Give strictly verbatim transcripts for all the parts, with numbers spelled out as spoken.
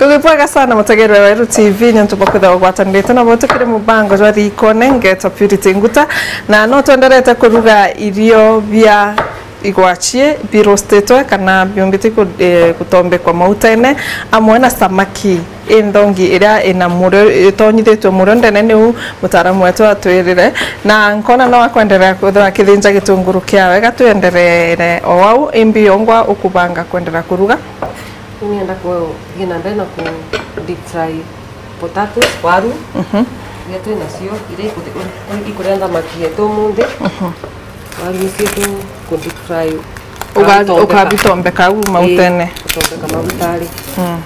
Tugibwega sana mutegerwa wa Weru T V, niuntu bwa kwithirwa ugwatanirite nabo tukiri mubango jwa Riikone, ngeetwa Purity Nguta, na no twenderete kuruga irio bia igwachie birostitwe kana biumbite ku-, eh, kutombekwa mautene, amwe na samaki inthongi iria ina murio, itonyithitwe murio ndene, niu mutaaramu wetu atwirire, na nkona no akwenderea kwithirwa akithinja gitunguru kiawe. Ga twendereere o au, imbi yongwa ukubanga kwenderea kuruga? Nienda kuthii na mbere na ku deep fry potatoes, waru, mhm, iria twi nacio, iria ikuthi-, ikuria thamaki yetu umunthi. Mhm. Waru nicio tu ku deep fry. Uga-, ukabitombeka. Ukabitombeka au mautene. Ii, utombeka magutari. Mm.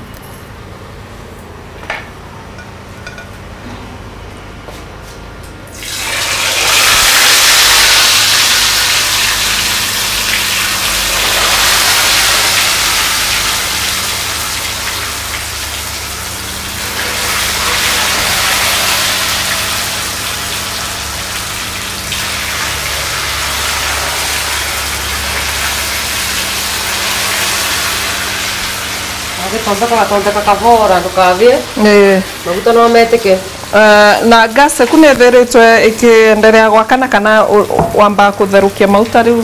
Ugitondeka, gatondeka kabora, ndukabie. Ii. Maguta no metike. Eh, na gas eku nethiritwe ikienderea gwakana kana u-, u-, wamba kutherukia mauta riu?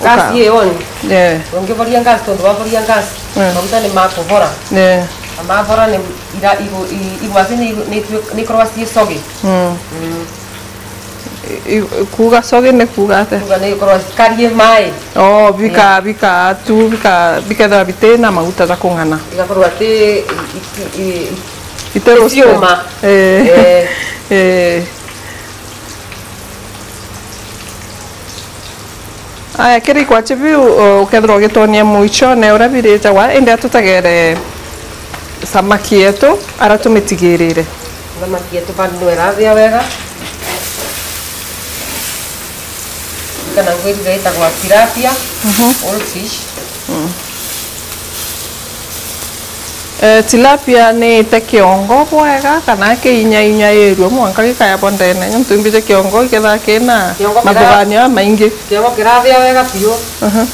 Gas uka- ii on. Yeah. Ungivoria gas, tondu wavoria gas, mm, maguta ni makuvora. Yeah. Na mavora ni ira-, igu-, i-, igwati ni igu-, ni itue-, ni ikorwa cii sogi. Mm. Mm. I-, i-, kuuga sogi ni kuuga atia? Kuuga ni ikorwa cikarie mai. Oh, bika-, yeah, bika tu, bika-, bikethirwa biti na maguta ja kung'ana. Igakorwa ati i-, i-, i-, i-, iti roasted. Iciuma. Eh. Eh. Eh. Aya, kiri ikwachi biu, uh, ukethirwa ugitonia muichone uria birijagwa, indi atutegere samaki yetu, aria tumitigirire. Samaki yetu bado no irathia wega. Kana ngwirire itagwa tilapia, mhm, whole fish. Mm. Eh, tilapia ni ite kiongo bwega, kana kiinyainyairue mwanka gikayabwa ndene, nontu imbiji kiongo ikethaa kina, kiongo kira-, mathuganio jamaingi. Kiongo kirathia wega biu. Aha.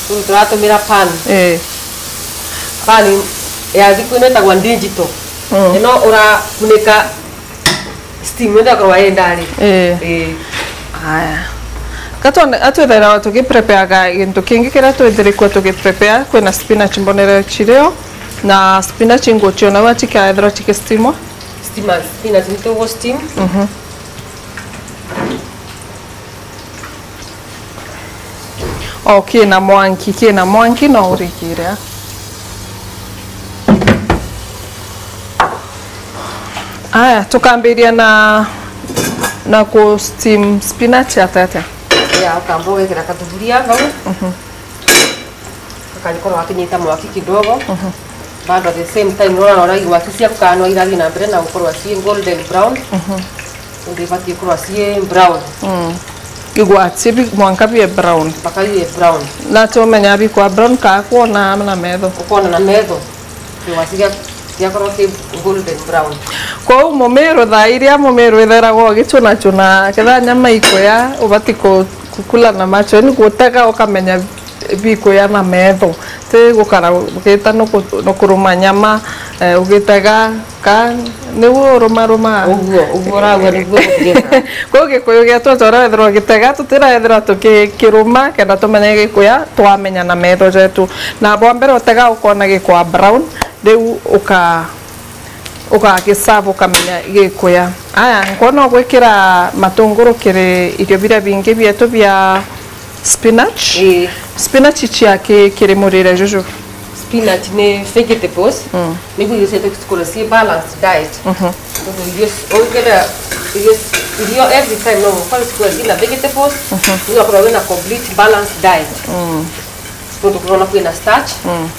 Riu turatumira pan. Eh. Pan ya thiku ino itagwa digital. Mm. Ino urakunika steam, ndio akorwa yenda ri. Eh. Eh. Aya. Gatwone-, atwithagirwa tugiprepareaga gintu kingi kiria twithirikua tugiprepare, kwina spinach mbonere chirio, na spinach nguchiona ua chikaethirwa chikistimwa. Steamers, spinach nitugu steam. Mhm. O, kina mwanki, kina mwanki, no urikire. Aya, tukambiria na, na ku steam spinach atia atia? Ya, ukamba ugekira kathuburia vau. Mhm. Gakarikorwa gakinyita mwaki kidogo. Mhm. Bado at the same time, nona ora igwati ciaku kana no irathi na mbere na gukorwa ci golden brown. Mhm. Nontu ibati gukorwa ci brown. Mm. Igwati bi-, mwanka bie brown. Mpaka bie brown. Na tumenya bikwa brown ka kwona na metho. Ukona na metho. Igwati gia-, giakorwa ki golden brown. Kwou mumiru, thaa iria mumiru itheragwa ugichunachuna, ketha nyama ikuya, ubati ku-, kukula na macho, yani gutega ukamenya bikuya na metho. Ti gukara ugita nuku-, nukuruma nyama, eh, ugitega, ka niu urumarumaa. Uguo, uguo uragua niguo ugitega. Kwou Gikuyu gietu uria wethirwa ugitega, tutiraethirwa tukikiruma kenda tumenye gikuya, twamenya na metho jetu. Na bwa mbere utega ukona gikwa brown, riu uka-, ugagiserve ukamenya gikuya. Aya, nkona ugwikira matunguru kiri irio biria bingi bietu bia spinach. Ii. Spinach chia ki-, kiri murire juju? Spinach ni vegetables. Mm. Niguo irio cietu cikoragwa ci balanced diet. Mhm. Nontu irio ci-, ukethira irio ci-, irio every time no mukore cikoragwa cina vegetables, mhm, igakorwa wina complete balanced diet. Mm. Nontu kurona kwina starch, mm,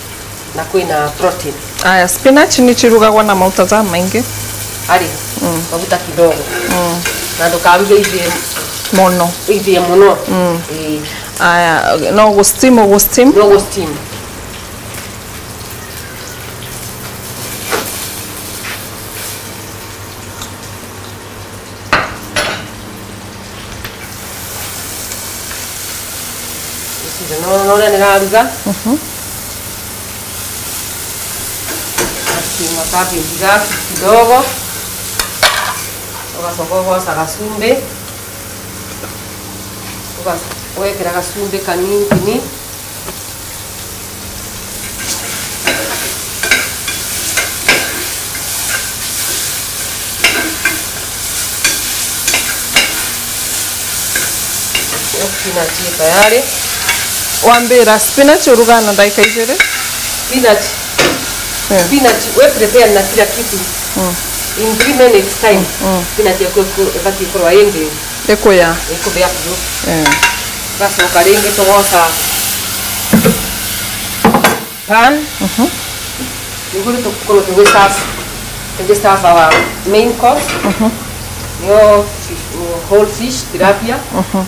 na kwina protein. Aya, spinach ni chirugagwa na mauta jamaingi. Ari, mm, maguta kidogo. Mm. Na ndukaruge ithie mono. Ithie mono. Mm. Ii. Aya, no gu steam, gu steam. No gu steam. Ucio no, no uria niraruga. Mhm. Makabi mbiga kidogo, ugacoka ugoca gacumbi, uga-, ugekira gacumbi kanini. Spinach ii tayari. Wambira spinach urugaa na ndagika ijiri? Spinach. Eh. Spinach, we prepare na kila kitu. Mm. In three minutes time, mm, spinach yaku iku-, ibati ikorwa indi ikuya. Ikuya biu. Eh. Ugacoka ringi tugoca pan. Mhm. Niguo tukorwo tugi serve, tugi serve our main course. Mhm. Nio fish, whole fish, tilapia. Mhm.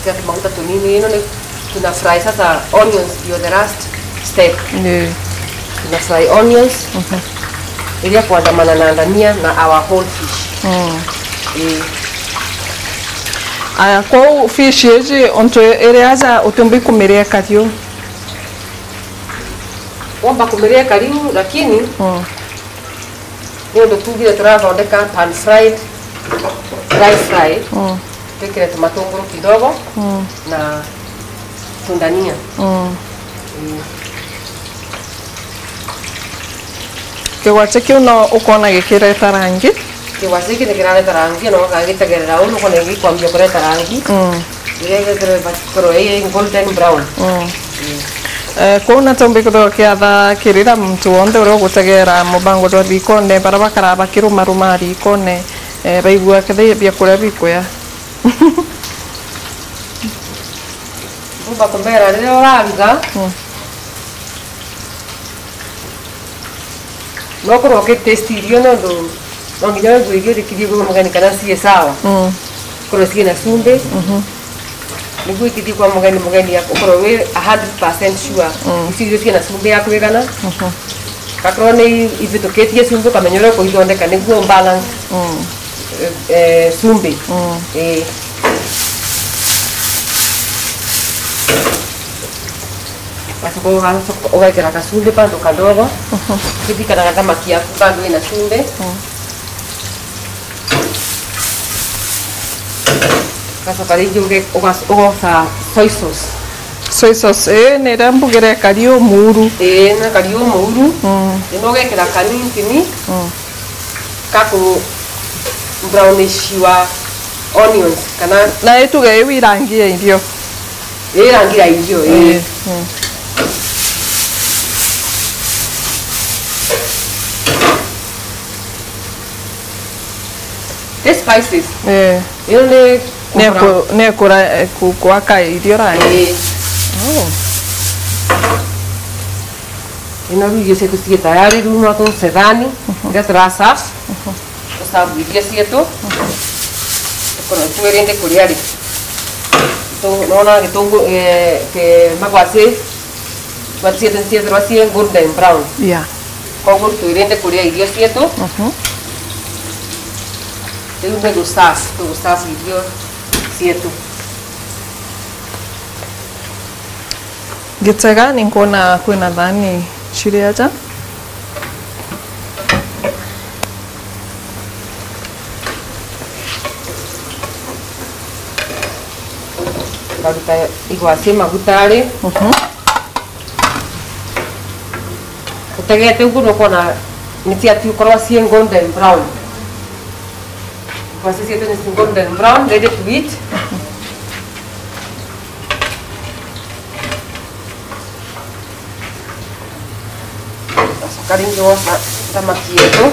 Ika tumaguta tunini, ino ni tuna fry sasa onions, ndio the last step. Ni. Tuna fry onions. Mhm. Iria kwandamana na ndania na our whole fish. Mm. Ii. Aya, kwou fish iji untu iri aja utiumba kumiria kariu? Womba kumiria kariu, lakini, mm, niundu tugire turathondeka pan fried, dry fry, mm, twikire tumatunguru kidogo, mm, na tundania. Mm. Ii. Kigwachi kiu no ukona gikireta rangi? Kigwachi giki nikirareta rangi, na ugagitegerera uu, nukona gikwambia kureta rangi. Mm. Riria githirwe ikorwo i golden brown. Mm. Mm. Eh, kwou na tumbi kwithirwa kiatha kirira muntu wonthe uria ugutegera mubango jwa rikone, baria bakaraa bakirumarumaa rikone, eh, baigua kethira biakuria bikuya. Mbuba kumbera riria uraruga. Mm. No korwo ukitaste irio, nondu no nginya wigue irio rikithie kwa mugeni kana cii sawa. Mm. Korwo cii na cumbi. Mhm. Niguo ikithie kwa mugeni, mugeni ya-, ukorwo wi a hundred percent sure. Mm. Icio irio cii na cumbi ya kwigana. Mhm. Gakorwo ni ithitukitie cumbi, ukamenya uria ukuithondeka niguo balance. Mm. Eh, eh, cumbi. Mm. Eh. Ugacoka uga-, ugekira gacumbi bado kadogo. Mhm. Ukithikana na thamaki yaku bado ina cumbi. Mm. Ugacoka ringi uge-, uga-, ugoca soy sauce. Soy sauce, ii, ni iria mbugire kari umuuru. Ii, na kari umuuru. Mm. Ino ugekira kanini. Mm. Ka ku brownish your onions, kana na ituge iu irangi ya irio. Ii, rangi ya irio, ii. Ii, mm. The spices. Ii. Ino ni ku brown. Ni ku-, ni kura-, eh, ku-, kwaka irio rangi. Ii. Oh. Ino riu irio cietu cii tayari, riu no tucethani, mhm, iria turaserve. Mhm. Tuserve irio cietu. Mhm. Tukorwo twirinde kuria ri. Tu-, nona gitungu, eh, ki-, magwati, magwati cietu ciethirwa cii golden brown. Yeah. Koguo twirinde kuria irio cietu. Mhm. Riu ni guserve, tuguserve irio cietu. Ngitega, ni nkwona kwina thani ciri aja. Ngaruta igwati magutari. Mhm. Utegete uguo, nukwona ni ciatu ikorwa cii golden brown. Igwati cietu ni cii golden brown, ready to eat. Gacoka ringi woca thamaki yetu.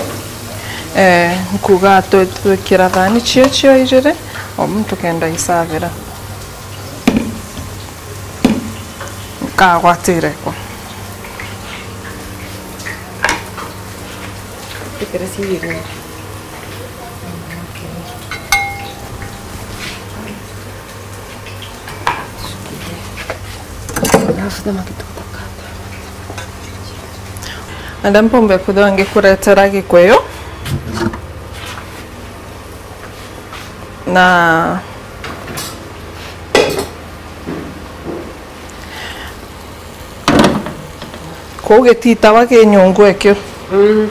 Eh, nkuga twi-, twikira thani cio cio ijiri, o muntu kenda isavira. Nkagwatire ko. Twikire cio ijiri. Alafu thamaki tukakata. Enda mpombe kwithirwa ngikuretera gikuyu. Na Kuu gititawa ki nyungu ekio. Mm.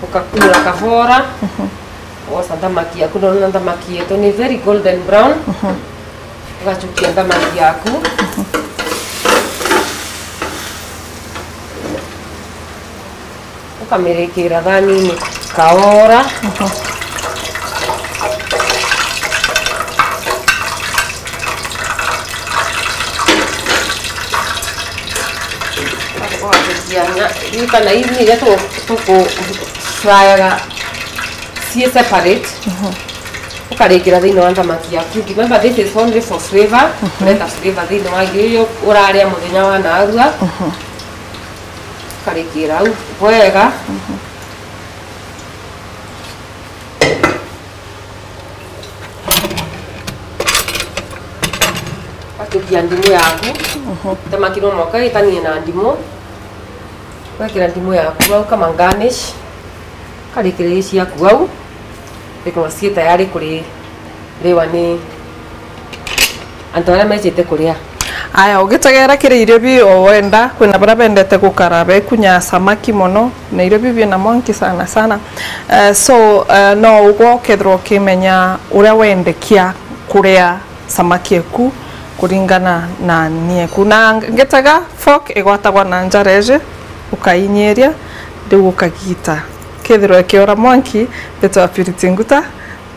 Ukakumura kabora. Wosa nthamaki yaku, ndona nthamaki yetu ni very golden brown. Ugachukia nthamaki yaku. Ukamirikira thanini kaora. Ugachukia nya-, ririkana, ii ni iria tu-, tuku-, fryaga cii separate. Ukarikira thiini wa nthamaki yaku. Remember, this is only for flavor. Kureta flavor thiini wa irio iria uraria muthenya wa naarua. Ukarikira au bwega. Ugachukia ndimu yaku. Nthamaki no mwanka itanie na ndimu. Wekira ndimu yaku au kama garnish, ukarikira irio ciaku au, ikorwa cii tayari kuririwa ni antu aria mejite kuria. Aya, ugitegera kiri irio bi o wenda, kwina baria bendete gukara bekunya samaki mono, na irio bi bina mwanki sana sana. Eh, so, eh, no ugwe ukethirwa ukimenya uria wendekia kuria samaki eku kuringana na ni eku. Na ngitega fork igwatagwa na njara iji, ukainyiria, riu ukagita. Kethirwa ikiora mwanki, mbitwa Purity Nguta,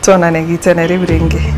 twonane gitene riu ringi.